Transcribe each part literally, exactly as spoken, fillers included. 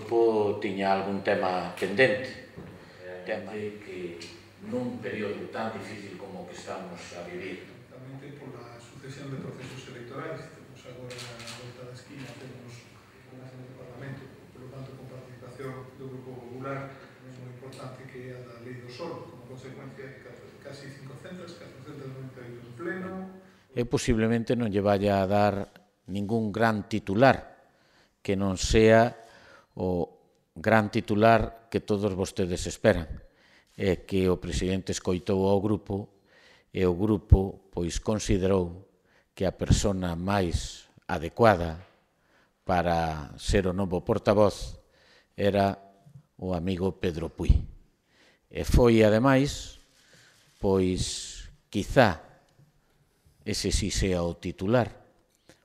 grupo tiña algún tema pendente. Tema que nun período tan difícil como que estamos a vivir. Tamén pola sucesión de procesos electorais, temos agora na volta da esquina, temos unhas no Parlamento, por lo tanto, con participación do Grupo Popular, é moi importante que a da Lei do Solo, como consecuencia de casi cincocentas, catrocentas noventa e oito en pleno. Eu posiblemente non lle vaya a dar ningún gran titular que non sea o gran titular que todos vostedes esperan, é que o presidente escoitou ao grupo e o grupo pois considerou que a persona máis adecuada para ser o novo portavoz era o amigo Pedro Puig. E foi, ademais, pois, quizá ese si sea o titular,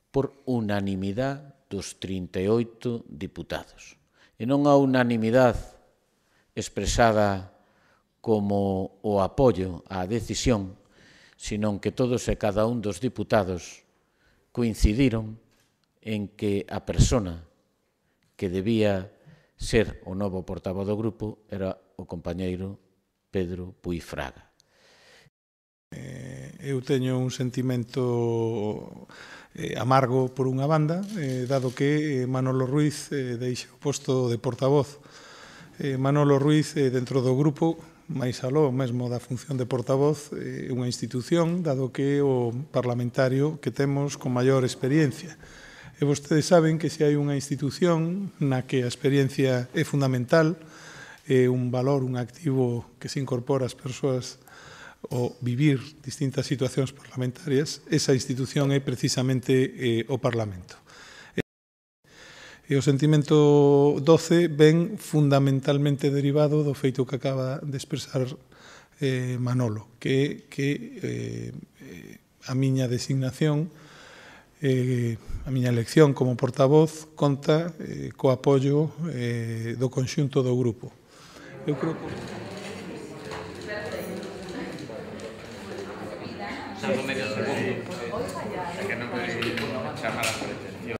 por unanimidade dos trinta e oito diputados. E non a unanimidade expresada como o apoio á decisión, senón que todos e cada un dos diputados coincidiron en que a persona que debía ser o novo portavoz do grupo era o compañeiro Pedro Puig Fraga. Eu teño un sentimento amargo por unha banda, dado que Manolo Ruiz deixa o posto de portavoz. Manolo Ruiz, dentro do grupo, máis aló mesmo da función de portavoz, é unha institución, dado que é o parlamentario que temos con maior experiencia. E vostedes saben que se hai unha institución na que a experiencia é fundamental, é un valor, un activo que se incorpora ás persoas o vivir distintas situacións parlamentarias, esa institución é precisamente eh, o Parlamento. E o sentimento doce ven fundamentalmente derivado do feito que acaba de expresar eh, Manolo, que, que eh, a miña designación, eh, a miña elección como portavoz conta eh, co apoio eh, do conxunto do grupo. Eu creo que... Algo medio segundo, que non me chamara por